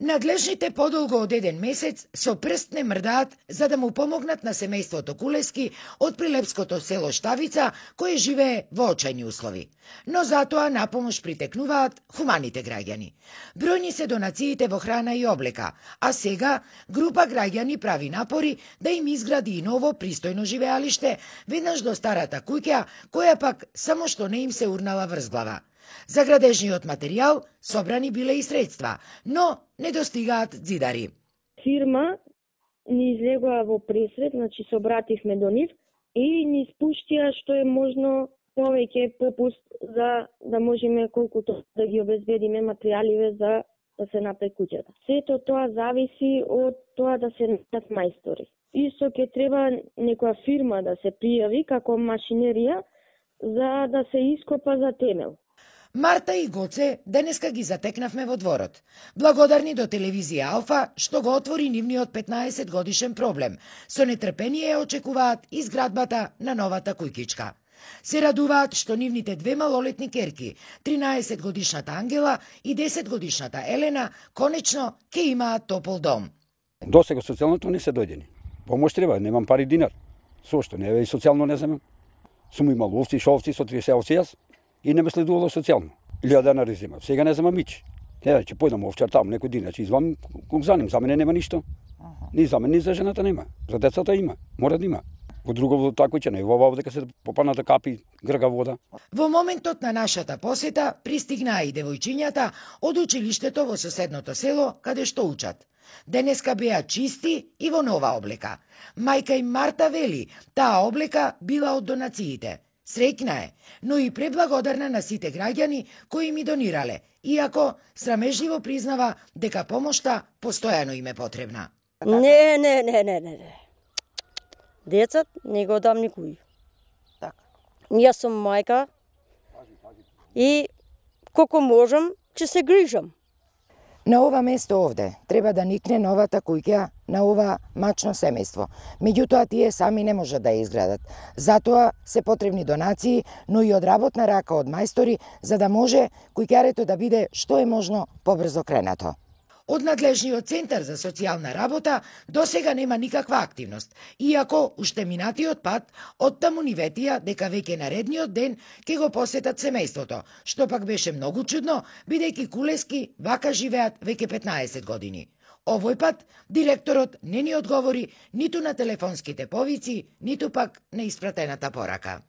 Надлежните подолго од еден месец со прст не мрдаат за да му помогнат на семејството Кулески од прилепското село Штавица, кое живее во очајни услови. Но затоа на помош притекнуваат хуманите граѓани. Бројни се донациите во храна и облека, а сега група граѓани прави напори да им изгради и ново пристојно живеалиште веднаш до старата куќа, која пак само што не им се урнала врз глава. За градежниот материјал собрани биле и средства, но не достигаат ѕидари. Фирма ни излегоа во пресред, значи се обративме до нив и ни спуштија што е можно повеќе попуст за да можеме колкуто да ги обезбедиме материјаливе за да се направи куќата. Сето тоа зависи од тоа да се најдат мајстори. Исто ќе треба некоја фирма да се пријави како машинерија за да се ископа за темел. Марта и Гоце денеска ги затекнавме во дворот. Благодарни до телевизија Алфа што го отвори нивниот 15 годишен проблем. Со нетрпение очекуваат изградбата на новата кујкичка. Се радуваат што нивните две малолетни керки, 13 годишната Ангела и 10 годишната Елена, конечно ќе имаат топол дом. Досега социјалното не се дојдени. Помош треба, немам пари динар. Со што не е и социјално не земам. Сум имал овци, шовци, со 30 овци јас. И не ме следувало социјално. 1000 денари земам. Сега не земам мич. Еве, ќе појдам овчар таму некој ден, ќе извам кук за ним. За мене нема ништо. Ни за мене, ни за жената нема. За децата има. Мора да има. Во друго тако ќе не. Во овде се попаната капи грга вода. Во моментот на нашата посета пристигнаа и девојчињата од училиштето во соседното село каде што учат. Денеска беа чисти и во нова облека. Мајка им Марта вели, таа облека била од донациите. Среќна е, но и преблагодарна на сите граѓани кои ми донирале, иако срамежливо признава дека помошта постојано им е потребна. Не. Децат не го дам никој. Така. Јас сум мајка и колку можам, ќе се грижам. На ова место овде треба да никне новата куќа на ова мачно семејство. Меѓутоа тие сами не можат да ја изградат. Затоа се потребни донации, но и одработна рака од мајстори за да може куќарето да биде што е можно побрзо кренато. Од надлежниот центар за социјална работа досега нема никаква активност, иако уште минатиот пат оттаму ни ветија дека веќе наредниот ден ќе го посетат семејството, што пак беше многу чудно, бидејќи Кулески вака живеат веќе 15 години. Овој пат директорот не ни одговори ниту на телефонските повици, ниту пак на испратената порака.